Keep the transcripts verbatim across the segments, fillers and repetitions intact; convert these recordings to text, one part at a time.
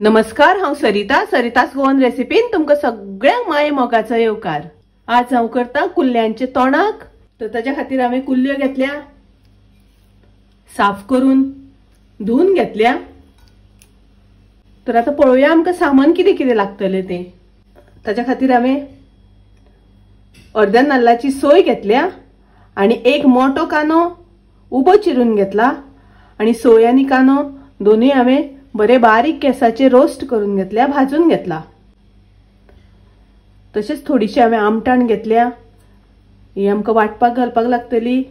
नमस्कार, हांव सरिता। सरितास गोवन रेसिपीन तुमकां सगळ्यांक माये मोगाचो येवकार। आज हांव करता कुल्ल्यांचे तोणाक। तर ताज्या खातीर हांवें कुल्ल्यो घेतल्या, साफ करून धुवन घेतल्या। तर आतां पळोवया आमकां सामान कितें कितें लागतलें तें। ताज्या खातीर हांवें अर्द्या नाल्लाची सोय घेतल्या आनी एक मोटो कांदो उबो चिरून घेतला आनी सोय आनी कांदो दोनूय हांवें बरे बारीक गॅसाचेर रोस्ट करून घेतल्या, भाजून घेतला। तशेंच थोडीशी हांवें आमटाण घेतल्या, ही आमकां वांटपाक घालपाक लागतली।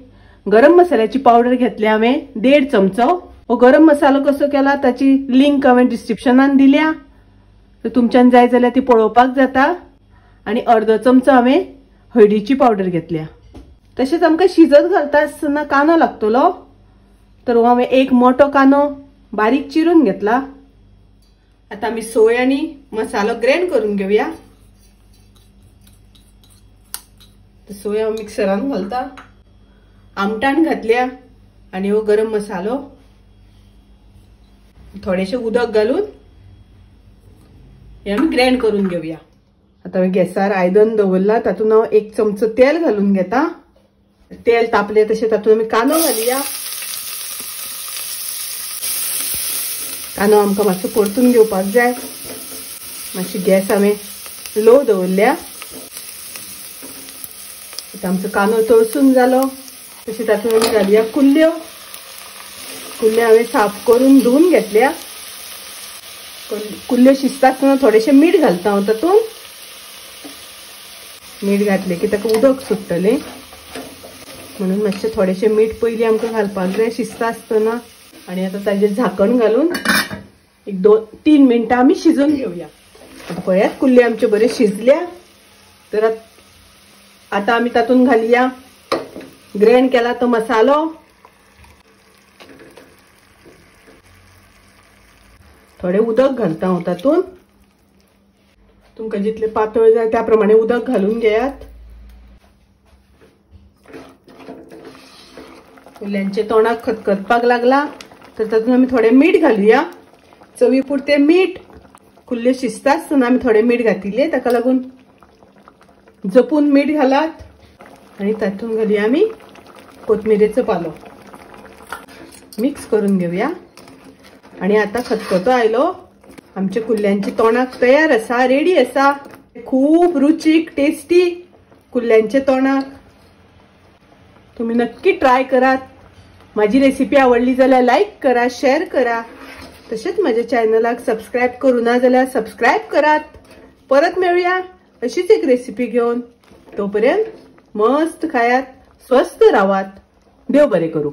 गरम मसाल्याची पावडर घेतल्या हांवें देड चमचो। हो गरम मसालो कसो केला ताची लिंक हांवें डिस्क्रिप्शनान दिल्या, तर तुमच्यान जाय जाल्यार ती पळोवपाक जाता। आनी अर्दो चमचो हांवें हळदीची पावडर घेतल्या। तशेंच आमकां शिजत घालता आसतना कांदो लागतलो, तर हो हांवें एक मोटो कांदो बारीक चिरून घेतला। आता आमी सोय आनी मसालो ग्राइंड करून घेवया। सोय हांव मिक्सरान घालता, आमटाण घातल्या आनी हो गरम मसालो, थोडेशें उदक घालून हे आमी ग्राइंड करून घेवया। आता हांवें गॅसार आयदन दवरला, तातूंत हांव एक चमचो तेल घालून घेता। तेल तापलें तशें तातूंत आमी कांदो घालया। कांदो आमकां मातसो परतून घेवपाक जाय। मातशी गॅस हांवें लो दवरल्या। आतां आमचो कांदो तळसून जालो, तशें तातूंत आमी घालया कुल्ल्यो। कुल्ल्यो हांवें साफ करून धुवन घेतल्या। कुल्ल्यो शिजता आसतना थोडेशें मीठ घालता हांव तातूंत। मीठ घातलें की ताका उदक सुट्टलें, म्हणून मातशें थोडेशें मीठ पयलीं आमकां घालपाक जाय शिजता आसतना। आनी आतां ताजेर झाकण घालून एक दोन तीन मिनटां आमी शिजोवन घेवया। आतां पळयात कुल्ल्यो आमच्यो बऱ्यो शिजल्या। तर आतां आमी तातूंत घालया ग्राइंड केला तो मसालो, थोडें उदक घालता हांव तातूंत। तुमकां जितलें पातळ जाय त्या प्रमाणे उदक घालून घेयात। कुल्ल्यांचे तोंडाक खतखतपाक लागला, तर तातूंत आमी थोडें मीठ घालुया, चवी पुरतें मीठ। कुल्ल्यो शिजता आसतना आमी थोडें मीठ घातिल्लें, ताका लागून जपून मीठ घालात। आनी तातूंत घालुया आमी कोथमिरेचो पालो, मिक्स करून घेवया। आनी आतां खतखतो आयलो, आमचे कुल्ल्यांचे तोंडाक तयार आसा, रेडी आसा। खूब रुचीक टेस्टी कुल्ल्यांचे तोंडाक तुम्ही नक्की ट्राय करात। माझी रेसिपी आवडली जाल्यार लाईक करा, शेअर करा, तसेच माझ्या चॅनलाक सबस्क्राईब करू ना जाल्यार सबस्क्राईब करात। परत मेळूया अशीच एक रेसिपी घेवन। तोपर्यंत मस्त खायात, स्वस्थ रावात। देव बरे करू।